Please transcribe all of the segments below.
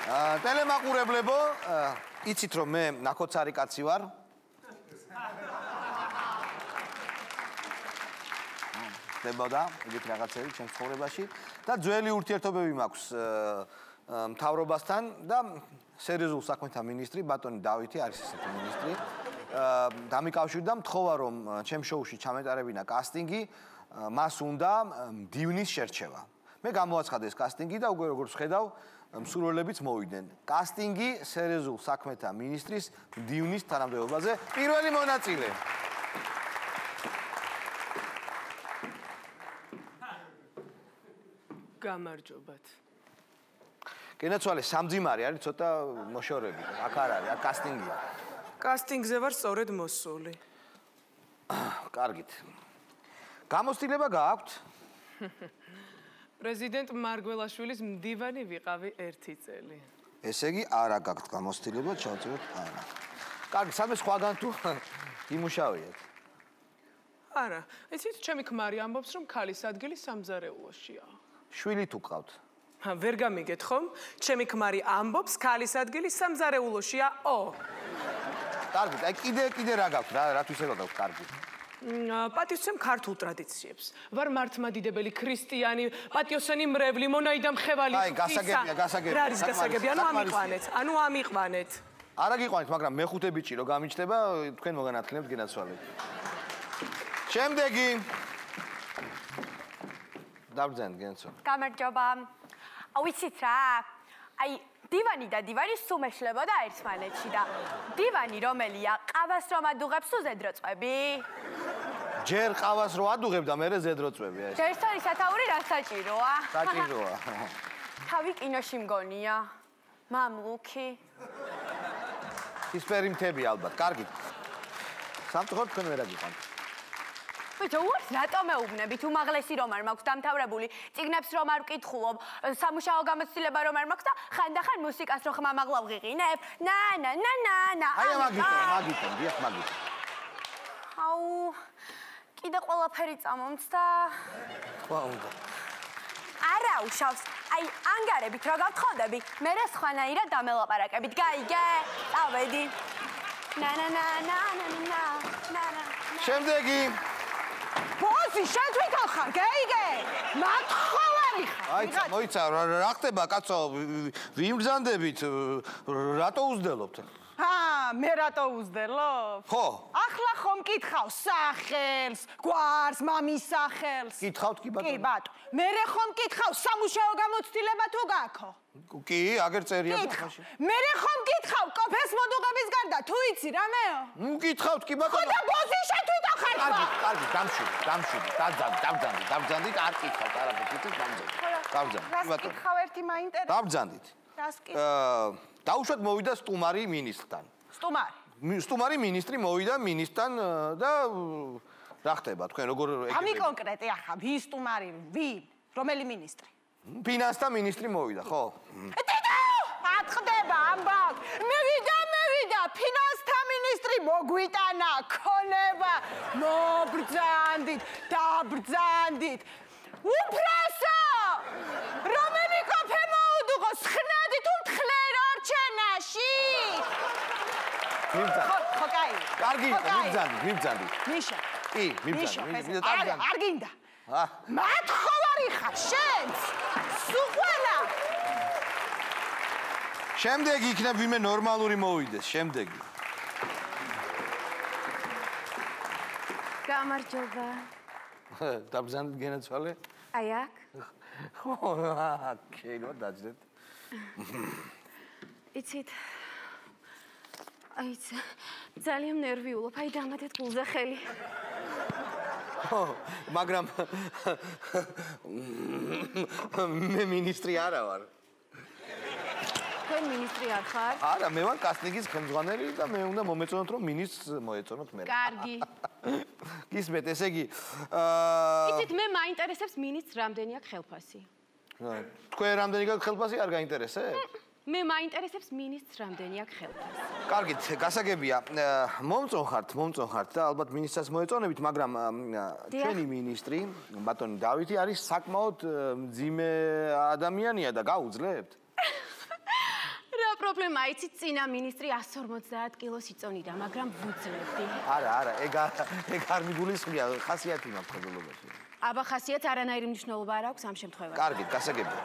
ტელემაყურებლებო, იცით რომ მე ნაქოცარი კაცი ვარ? ხდებოდა ეგეთ რაღაცები ჩემს ცხოვრებაში და ძველი ურთიერთობები მაქვს მთავრობასთან და სერიოზულ საქმეთა მინისტრი ბატონი დავითი არის ესეთი მინისტრი. დამიკავშირდა მთხოვა რომ ჩემ შოუში ჩამეტარებინა კასტინგი, მას უნდა მდივნის შერჩევა. მე გამოაცხადე ეს კასტინგი და უკვე როგორც ხედავ მსურველებიც მოვიდნენ. კასტინგი სერიოზულ საქმეთა მინისტრის მდივნის თანამდებობაზე პირველი მონაწილე. გამარჯობათ. გენაცვალე სამძიმარი არის ცოტა მოშორები. აქ არ არის, აქ კასტინგია. კასტინგზე ვარ სწორედ მოსული. კარგით. გამოცდილება გააქვთ? პრეზიდენტ მარგველაშვილის მდივანი ვიყავი 1 წელი. ესე იგი არა გაქვთ გამოცდილება, ჩავწეროთ არა. კარგი, სადმე სხვაგან თუ იმუშავიეთ? არა, იცით, ჩემი ქმარი ამბობს, რომ ქალის ადგილი სამზარეულოშია. შვილი თუ გყავთ? ვერ გამიგეთ ხომ? ჩემი ქმარი ამბობს, ქალის ადგილი სამზარეულოშიაო. კარგი, აი კიდე რა გაქვთ, რათვის ეხლა გაქვთ კარგი? პატიოსცემ ქართულ ტრადიციებს. ვარ მართლმადიდებელი ქრისტიანი, პატიოსანი მრევლი, მონაიდა მხევალი. აი, გასაგებია. რა არის გასაგები? ანუ ამიყვანეთ. არა გიყვანეთ, მაგრამ მეხუთე ბიჭი რო გამიჩნდება, თქვენ მოგანათქნებთ გენაცვალეთ. შემდეგი. დაბრძანეთ გენაცვალე. გამარჯობა. ვიცით რა? აი, დივანი და დივანი სუმეშლებოდა ერთმანეთში და დივანი რომელია? ყავას რომ ადუღებს თუ ზედროწვები? ჯერ ყავას რო ადუღებ და მერე ზედროწვები ეს. ჯერსტორი სათაური რა საჭიროა? საჭიროა. თავი კინოში მგონია. მამლუქი. ისფერი მთები ალბათ. კარგით. სამწუხაროდ თქვენ ვერ აგიყვანთ. ბიჭო, უარს რატომ მეუბნებით? უმაღლესი რომ არ მაქვს დამთავრებული, წიგნებს რომ არ ვკითხულობ, სამუშაო გამოცდილება რომ არ მაქვს და ხანდახან მუსიკას რო ხმამაღლა ვღიღინებ. ნა. აი მაგითო, დიახ მაგითო. აუ, კიდე ყველაფერი წამომცდა. თქვა უნდა. არა უშავს. აი, ანგარებით რა გავთხოვდები, მე რა სხვანაირად დამელაპარაკებით. გაიგე? წავედი. ნა. შემდეგი. ბოსი, შენ თვითონ ხარ, გაიგე? მათხოვარი ხარ. აიცა, მოიცა, რა ხდება, კაცო, ვიმგზანდებით, რატო უძდელობთ? მე რატო უძდელობ? ხო. ახლა ხომ მკითხავ სახელს, გვარს, მამის სახელს. კითხავთ კი ბატონო? კი ბატონო. მერე ხომ მკითხავ სამუშაო გამოცდილება თუ გაქვს? კი, აგერ წერია ბახაში. მერე ხომ მკითხავ კოფეს მოდუღების გარდა, თუ იცი რამეო? კითხავთ კი ბატონო? ხო და ბოსი შენ თვითონ ხარ. კარგი, დამშვიდე, დაბრძანდით, არ კითხავთ, არაფერს იცით, დაბრძანდით. რას კითხავ ერთი მაინტერესებს? დაბრძანდით. რას კითხავ? დაუშვათ მოვიდა სტუმარი მინისტრთან. სტუმარი მინისტრი მოვიდა მინისტრთან და რა ხდება თქვენ როგორ ამი კონკრეტი ახლა ვის სტუმარი ვინ რომელი მინისტრი? ფინანსთა მინისტრი მოვიდა, ხო? ატყდება ამბავ. მევიდა ფინანსთა მინისტრი მოგვიტანა ქონება. მობრძანდით, დაბრძანდით. უფროსო! რომელი კოფე მოუდუღო სხნადი თუ მთხრერ ორჩენაში? ხო, კაი. კარგი, მიბრძანდით. ნიშა. კი, მიბრძანდით. არ გინდა. მათხოვარი ხარ შენც. სუყვანა. შემდეგი იქნებ ვინმე ნორმალური მოვიდეს, შემდეგი. გამარჯობა. დაბრძანდით გენაცვალე? აი აქ. ხო, შეიძლება დაძდეთ. იცით. აიც ძალიან ნერვიულობ, აი დამატეთ გულზე ხელი. ხო, მაგრამ მე მინისტრი არა ვარ. თქვენ მინისტრი არ ხარ? არა, მე ვარ კასტინგის ხელმძღვანელი და მე უნდა მომეწონოთ რომ მინისტრს მოეწონოთ მე. კარგი. გისმენთ, ესე იგი იცით, მე მაინტერესებს მინისტრს რამდენი აქვს ხელფასი. თქვენ რამდენი გაქვთ ხელფასი არ გაინტერესებს? მე მაინტერესებს მინისტრს რამდენი აქვს ხელფასი. კარგით, გასაგებია. მომწონხართ და ალბათ მინისტრს მოეწონებით, მაგრამ ჩვენი მინისტრი, ბატონი დავითი არის საკმაოდ მძიმე ადამიანია და გაუძლებთ? პრობლემაა, იცით, წინა მინისტრი 150 კილოს იწონიდა, მაგრამ ვუძლებდი. არა, ეგ არ მიგულისხმია, ხასიათი მაქვს ხებულობაში. აბა ხასიათს არანაირი მნიშვნელობა არ აქვს ამ შემთხვევაში. კარგი, გასაგებია.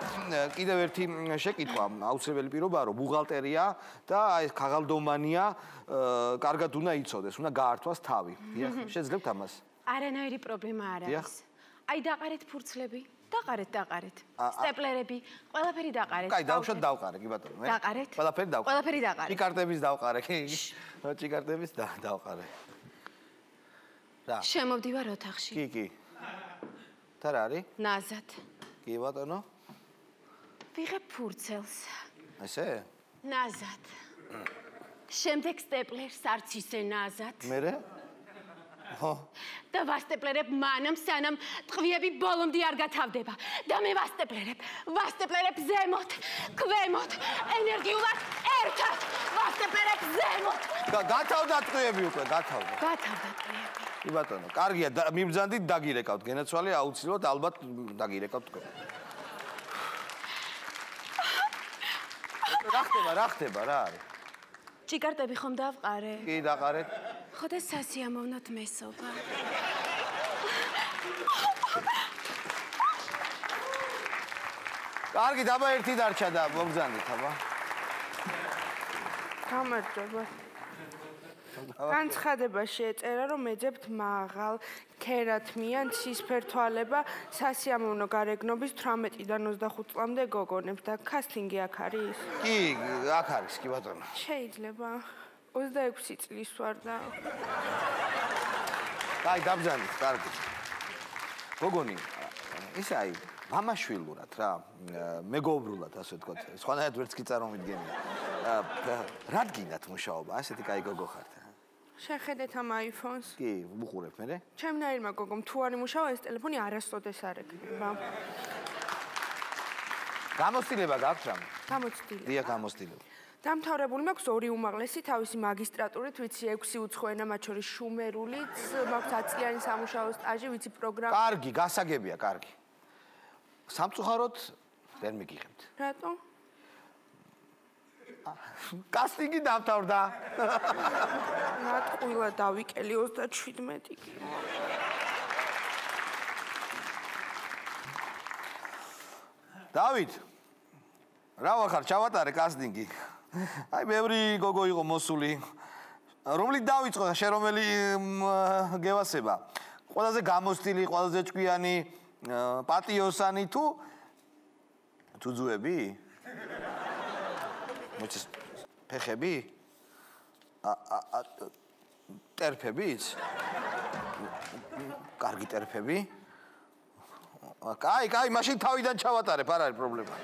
კიდევ ერთი შეკითხვა, აუცილებელი პირობაა, რომ ბუღალტერია და ეს ქაღალდომანია კარგად უნდა იცოდეს, უნდა გაართვას თავი. დიახ, შეძლებთ ამას? არანაირი პრობლემა არ არის. აი დაყარეთ ფურცლები. დაყარეთ. სტეპლერები, ყველაფერი დაყარეთ. კაი, დავუშვათ დავყარე, კი ბატონო. დაყარეთ. ყველაფერი დავყარე. ყველაფერი დაყარეთ. ჭიკარტების დავყარე, კი. ჭიკარტების დავყარე. რა? შემოვდივარ ოთახში. კი. და რა არის? ნაზად. კი ბატონო. ვიღებ ფურცელს. ესე? ნაზად. შემდეგ სტეპლერს არც ისე ნაზად. მერე? ხო. და ვასტეპლერებ მანამ სანამ ტყვიები ბოლომდე არ გათავდება. და მე ვასტეპლერებ ზემოთ, ქვემოთ, ენერგიულად ერთად. ვასტეპლერებ ზემოთ. გათავდა ტყვიები უკვე, გათავდა. გათავდა ტყვიები. კი ბატონო, კარგია, მიბრძანდით დაგირეკავთ, გენაცვალე აუცილებლად ალბათ დაგირეკავთ თქვენ. რა ხდება, რა არის? ჭიკარტები ხომ დავყარე? კი, დაყარეთ. ხო და სასიამოვნოდ მესობა. კარგი, დაბა ერთი დარჩა და მობრძანდით, აბა. გამარჯობა. განცხადებაში ეწერა, რომ ეძებთ მაღალ, ქერათმიან, ცისფერ თვალება, სასიამოვნო გარეგნობის 18-დან 25 წლამდე გოგონებს და კასტინგი აქ არის? კი, აქ არის, კი ბატონო. შეიძლება 26 წლის ვარ და აი, დაბრძანდით, კარგი. გოგონი, ისე აი, მამაშვილურად რა, მეგობრულად, ასე ვთქვათ, სხვანაირად ვერც კი წარმომიდგენია. რა გინდათ მუშაობა, ასეთი კაი გოგო ხართ? შეხედეთ ამ iPhone-ს. კი, ვუყურებ მე. ჩემნაირმა გოგომ თუ არ იმუშავა, ეს ტელეფონი არასოდეს არ ეკნება. გამოცდილება გაქვთ რამე? გამოცდილება. დიახ, გამოცდილება. დამთავრებული მაქვს 2 უმაღლესი თავისი მაგისტრატურით, ვიცი 6 უცხო ენა, მათ შორის შუმერულიც, მაქვს 10 წლიანი სამუშაო სტაჟი, ვიცი პროგრამა. კარგი, გასაგებია, კარგი. სამწუხაროდ ვერ მიგიღებთ. რატო? კასტინგი დამთავრდა. ნატყვილა დავიკელი 37 კი. დავით, რა ვახარ, ჩავატარე კასტინგი. აი, ბევრი გოგო იყო მოსული. რომლით დავიწყო და შე რომელი გევასება? ყველაზე გამოცდილი, ყველაზე ჭკვიანი, პატიოსანი თუ ძუძუები? მოიცეს ფეხები? ტერფებიც? კარგი ტერფები? კაი, მაშინ თავიდან ჩავატარებ, არ არის პრობლემა.